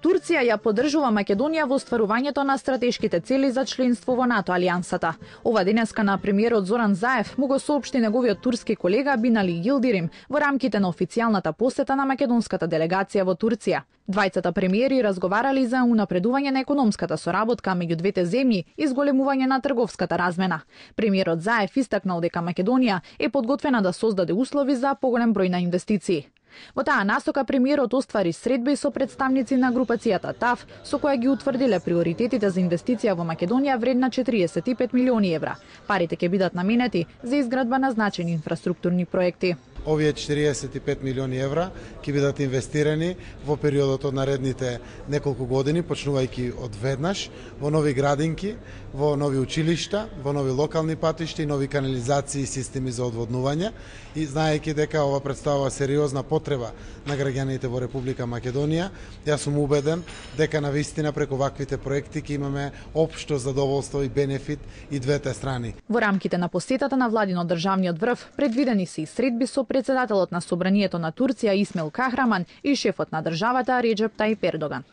Турција ја поддржува Македонија во остварувањето на стратешките цели за членство во НАТО алијансата. Ова денеска на премиерот Зоран Заев му го соопшти неговиот турски колега Бинали Йилдирим во рамките на официјалната посета на македонската делегација во Турција. Двајцата премиери разговарали за унапредување на економската соработка меѓу двете земји и зголемување на трговската размена. Премиерот Заев истакнал дека Македонија е подготвена да создаде услови за поголем број на инвестиции. Во таа насока премиерот оствари средби со представници на групацијата ТАФ, со која ги утврдиле приоритетите за инвестиција во Македонија вредна 45 милиони евра. Парите ќе бидат наменети за изградба на значајни инфраструктурни проекти. Овие 45 милиони евра ќе бидат инвестирани во периодот од наредните неколку години, почнувајќи од веднаш во нови градинки, во нови училишта, во нови локални патишта и нови канализации и системи за одводнување. И знаејќи дека ова представува сериозна потреба на граѓаните во Република Македонија, јас сум убеден дека навистина преку ваквите проекти ќе имаме општо задоволство и бенефит и двете страни. Во рамките на посетата на владино државниот врв предвидени се и средби со председателот на Собранието на Турција Исмаил Кахраман и шефот на државата Реџеп Тајип Ердоган.